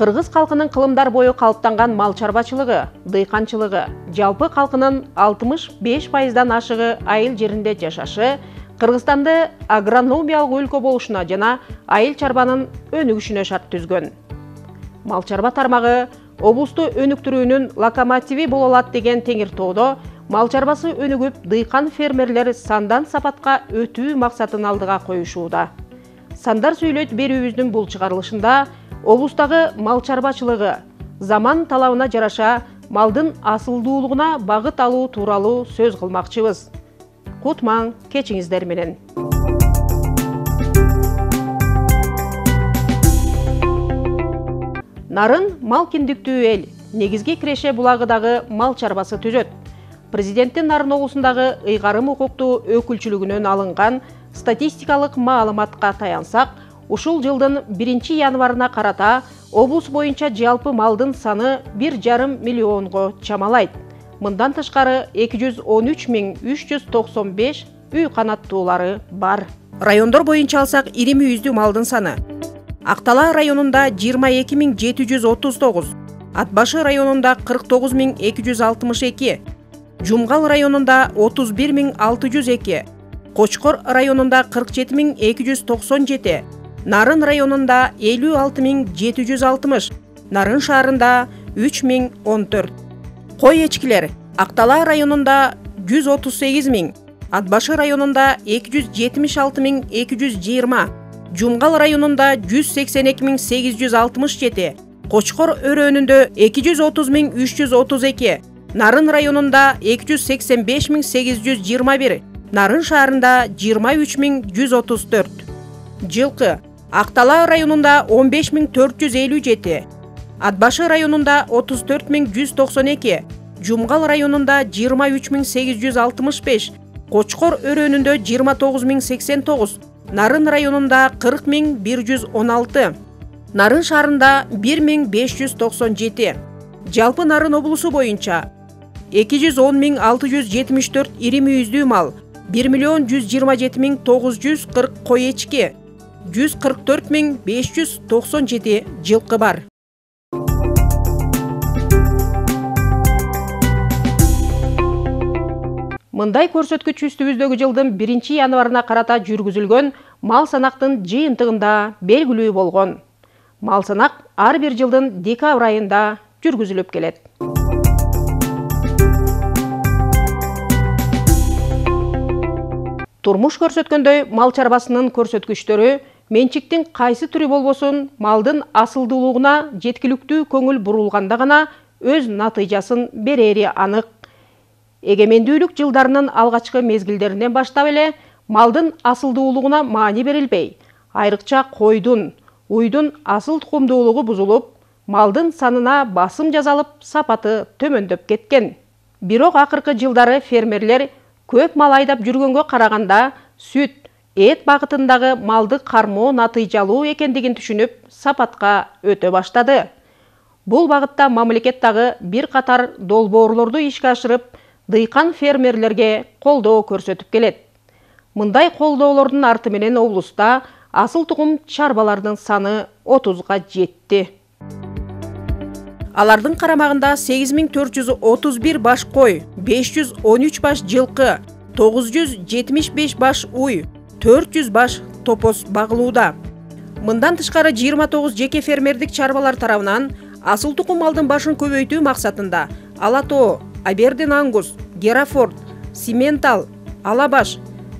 Кыргыз калкынын кылымдар бою калыптанган мал чарбачылыгы, дыйканчылыгы, жалпы калкынын 65%дан ашыгы айыл жеринде жашашы Кыргызстанды агрономиялык өлкө болушуна жана айыл чарбанын өнүгүшүнө шарт түзгөн. Мал чарба тармагы облусту өнүктүрүүнүн локомотиви боло алат деген Теңиртоодо мал чарбасы өнүгүп, дыйкан фермерлер сандан сапатка өтүү максатын алдыга коюшууда. Сандар сүйлөйт берүүбүздүн бул чыгарылышында облустагы мал чарбачылыгы, заман талабына жараша малдын асылдуулугуна багыт алуу тууралуу сөз кылмакчыбыз. Кутмаң кечиңиздер менен. Нарын мал киндиктүү эл, негизги Киреше булагыдагы мал чарбасы түзөт. Президенттин Нарын облусундагы ыйгарым укуктуу өкүлчүлүгүнөн алынган статистикалык маалыматка таянсак, ушул жылдын 1 январына карата облус боюнча жалпы малдын саны 1,5 миллионго чамалайт. Мындан тышкары 213.395 үй канаттуулары бар. Райондор боюнча алсак, ири мүйүздүү малдын саны: Актала районунда 22.739, Ат башы районунда 49.262, Жумгал районунда 31.602, Кочкор районунда 47.297, Нарын районунда 56.760, Нарын шаарында 3.014. Кой эчкилер: Актала районунда 138.000, Ат башы районунда 276.220, Жумгал районунда 182.867, Кочкор өрөөнүндө 230.332, Нарын районунда 285.821, Нарын шаарында 23.134. Жылкы: Актала районунда 15.457, Ат башы районунда 34.192, Жумгал районунда 23.865, Кочкор өрөөнүндө 29.089, Нарын районунда 40.116, Нарын шаарында 1.597. Жалпы Нарын облусу боюнча 210.674 ири мүйүздүү мал, 1.127.940 кой эчки, 144.597 жылкы бар. Мындай көрсөткүч үстүбүздөгү жылдын 1 январына карата жүргүзүлгөн мал санактын жыйынтыгында белгилүү болгон. Мал санак ар бир жылдын декабрь айында жүргүзүлүп келет. Турмуш көрсөткөндөй, мал чарбасынын көрсөткүчтөрү менчиктин кайсы түрү болбосун малдын асылдуулугуна жеткиликтүү көңүл бурулганда гана өз натыйжасын берери анык. Эгемендүүлүк жылдарынын алгачкы мезгилдеринен баштап эле малдын асылдуулугуна маани берилбей, айрыкча койдун, уйдун асыл тукумдуулугу бузулуп, малдын санына басым жасалып, сапаты төмөндөп кеткен. Бирок акыркы жылдары фермерлер көп мал айдап жүргөнгө караганда сүт, эт багытындагы малды кармоо натыйжалуу экендигин түшүнүп, сапатка өтө баштады. Бул багытта мамлекет дагы бир катар долбоорлорду ишке ашырып, дыйкан фермерлерге колдоо көрсөтүп келет. Мындай колдоолордун арты менен облуста асыл тукум чарбалардын саны 30га жетти. Алардын карамагында 8431 баш кой, 513 баш жылкы, 975 баш уй, 400 баш топоз багылууда. Мындан тышкары 29 жеке фермердик чарбалар тарабынан асыл тукум малдын башын көбөйтүү максатында Ала-Тоо, Абердин Ангус, Герафорд, Симентал, Алабаш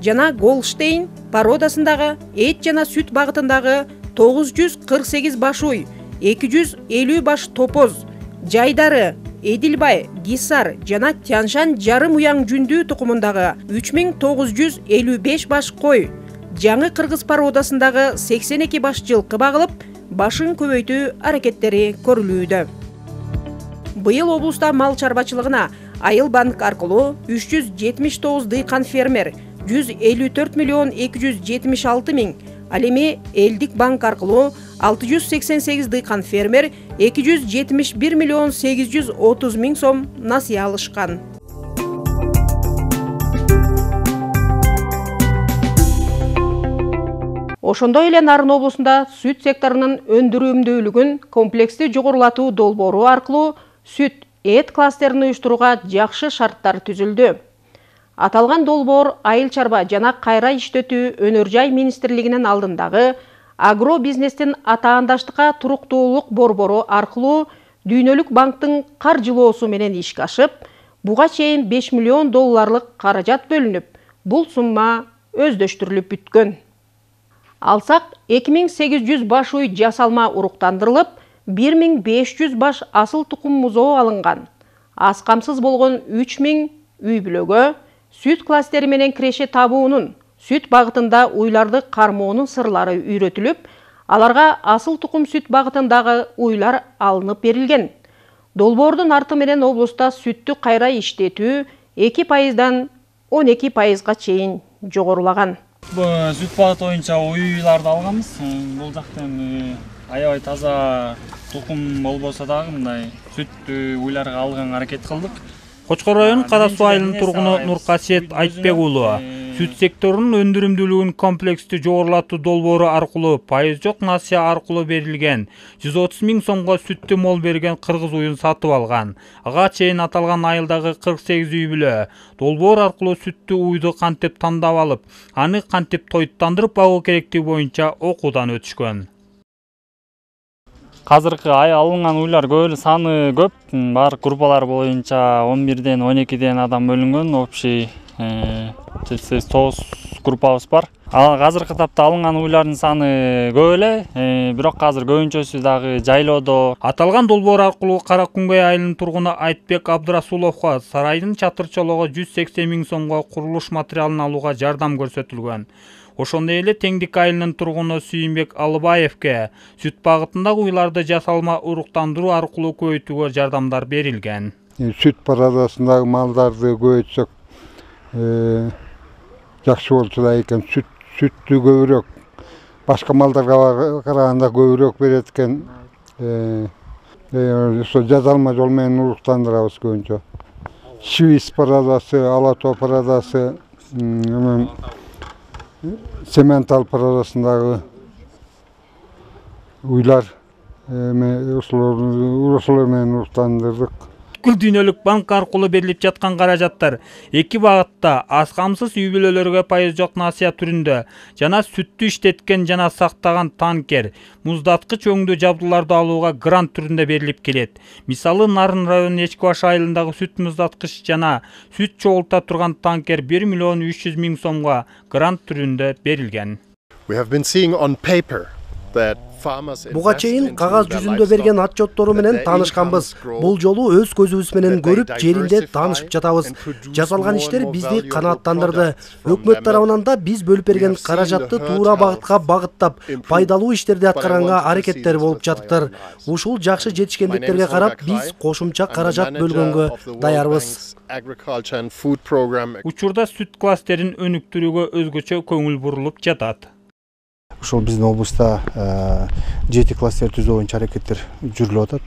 жана Голштейн породасындагы эт жана сүт багытындагы 948 баш уй, 250 баш топоз, жайдары, Эдилбай, Гисар жана Тяншан жарым уяң жүндүү тукумундагы 3955 баш кой, жаңы кыргыз породасындагы 82 баш жылкы багылып, башын көбөйтүү аракеттери көрүлүүдө. Быйыл облуста мал чарбачылыгына Айыл банк аркылуу 379 дыйкан фермер, 154.276.000, ал эми Элдик банк аркылуу 688 дыйкан фермер 271.830.000 сом насыя алышкан. Ошондой эле Нарын облусунда сүт секторунун өндүрүмдүүлүгүн комплекстүү жогорулатуу долбоору аркылуу сүт эт кластерин уюштурууга жакшы шарттар түзүлдү. Аталган долбоор Айыл чарба жана кайра иштетүү өнөр жай министрлигинин алдындагы агро бизнестин атаандаштыкка туруктуулук борбору аркылуу Дүйнөлүк банктын каржылоосу менен ишке ашып, буга чейин $5 миллион каражат бөлүнүп, бул сумма өздөштүрүлүп бүткөн. Алсак 2800 баш уй жасалма уруктандырылып, 1500 баш асыл тукум музоо алынган. Аз камсыз болгон 3000 үй бүлөгө сүт кластери менен киреше табуунун, сүт багытында уйларды кармоонун сырлары үйрөтүлүп, аларга асыл тукум сүт багытындагы уйлар алынып берилген. Долбоордун арты менен облуста сүттү кайра иштетүү 2%дан 12%га чейин жогорулаган. Сүт багыты боюнча уйларды алганбыз. Бул жактан аябай таза тукум болбосо дагы мындай сүт уйларга алганга аракет кылдык. Кочкор районунун Кара Суу айылынын тургуну Нуркасиет Айтбек уулу сүт секторунун өндүрүмдүүлүгүн комплекстүү жогорулатуу долбоору аркылуу пайыз жок насыя аркылуу берилген 130 000 сомго сүттү мол берген кыргыз уюн сатып алган. Ага чейин аталган айылдагы 48 үй бүлө долбоор аркылуу сүттү уйду кантип тандап алып, аны кантип тоюттандырып багуу керектиги боюнча окуудан өтүшкөн. Азыркы алынган уйлар көп, саны көп. Баардык группалар боюнча 11ден 12ден адам бөлүнгөн. Общий 9 группабыз бар. Азыркы тапта алынган уйлардын саны көп эле, бирок азыр көбүнчөсү дагы жайлоодо. Аталган долбоор аркылуу Кара Күнгөй айылынын тургуну Айтбек Абдрасуловго сарайдын чатырчалоого 180 000 сомго курулуш материалын алууга жардам көрсөтүлгөн. Ошондой эле Теңдик айылынын тургуну Сүйүнбек Алыбаевке сүт багытындагы уйларды жасалма уруктандыруу аркылуу көбөйтүүгө жардамдар берилген. Сүт парадасындагы малдарды көбөйтсөк жакшы болчу да экен. Сүттү көбүрөөк башка малдарга караганда көбүрөөк берет экен. Ошо жазалма жол менен уруктандырабыз көбүнчө. Швиц парадасы, Ала Тоо парадасы, Сементал парадасындагы уйлар ошолор менен уруктандырдык. Дүйнөлүк банк аркылуу берилип жаткан каражаттар эки багытта аз камсыз үй бүлөлөргө пайыз жок насыя түрүндө жана сүттү иштеткен жана сактаган танкер, муздаткыч өңдүү жабдууларды алууга грант түрүндө берилип келет. Мисалы, Нарын районунун Эчкибаш айылындагы сүт муздаткыч жана сүт чогулта турган танкер 1 300 000 сомго грант түрүндө берилген. Буга чейин кагаз жүзүндө берген отчеттору менен таанышканбыз. Бул жолу өз көзүбүз менен көрүп, жеринде таанышып жатабыз. Жасалган иштер бизди канааттандырды. Өкмөт тарабынан да биз бөлүп берген каражатты туура багытка багыттап, пайдалуу иштерди аткаранга аракеттер болуп жатыптыр. Ушул жакшы жетишкендиктерге карап, биз кошумча каражат бөлгөнгө даярбыз. Учурда сүт кластерин өнүктүрүүгө өзгөчө көңүл бурулуп жатат. Ушул биздин облуста 7 кластер түзүү боюнча аракеттер жүрүлүп атат.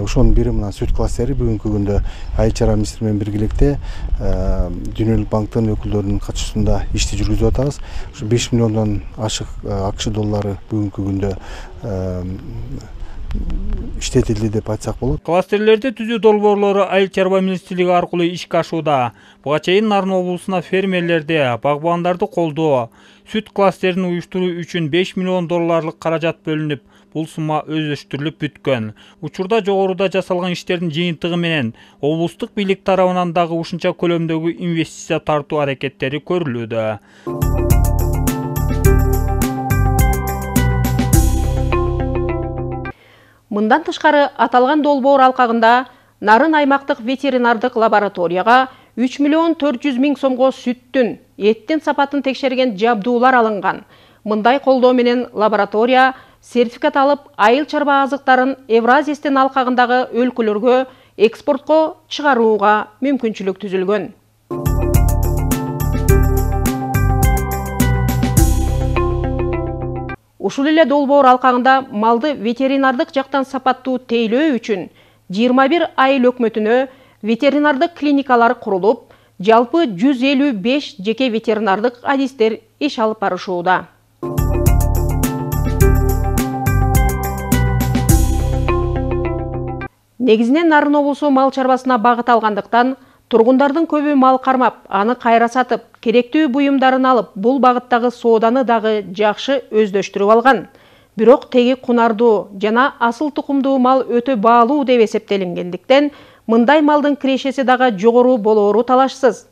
Ошонун бири мына сүт кластери бүгүнкү күндө Айыл чарба министри менен биргеликте Дүйнөлүк банктын өкүлдөрүнүн катышуусунда ишти жүргүзүп атабыз. Ушу 5 миллиондон ашык АКШ доллары бүгүнкү күндө иштетилди деп айтсак болот. Кластерлерди түзүү долбоорлору Айыл чарба министрлиги аркылуу ишке ашууда. Буга чейин Нарын облусуна фермерлерди, багбандарды колдоо, сүт кластерин уюштуруу үчүн $5 миллион каражат бөлүнүп, бул сумма өздөштүрүлүп бүткөн. Учурда жогоруда жасалган иштердин жыйынтыгы менен облустук бийлик тарабынан дагы ушунча көлөмдөгү инвестиция тартуу аракеттери көрүлүүдө. Мындан тышкары аталган долбоор алкагында Нарын аймактык ветеринардык лабораторияга 3 400 000 сомго сүттүн, эттин сапатын текшерген жабдуулар алынган. Мындай колдоо менен лаборатория сертификат алып, айыл чарба азыктарын Евразистин алкагындагы өлкөлөргө экспортко чыгарууга мүмкүнчүлүк түзүлгөн. Ушул эле долбоор алкагында малды ветеринардык жактан сапаттуу тейлөө үчүн 21 айыл өкмөтүнө ветеринардык клиникалар курулуп, жалпы 155 жеке ветеринардык адистер иш алып барышууда. Негизинен Нарын облусу мал чарбасына багыт алгандыктан тургундардын көбү мал кармап, аны кайра сатып, керектүү буюмдарын алып, бул багыттагы сооданы дагы жакшы өздөштүрүп алган. Бирок теги кунардуу жана асыл тукумдуу мал өтө баалуу деп эсептелингендиктен, мындай малдын кирешеси дагы жогору болоору талашсыз.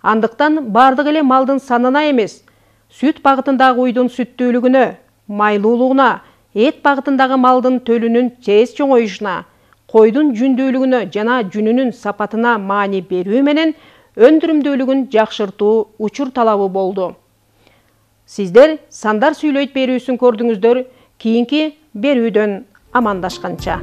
Андыктан бардык эле малдын санына эмес, сүт багытындагы уйдун сүттүүлүгүнө, майлуулугуна, эт багытындагы малдын төлүнүн тез чоңоюшуна, койдун жүндүүлүгүнө жана жүнүнүн сапатына маани берүү менен өндүрүмдүүлүгүн жакшыртуу учур талабы болду. Сиздер Сандар сүйлөйт берүүсүн көрдүңүздөр. Кийинки берүүдөн амандашканча.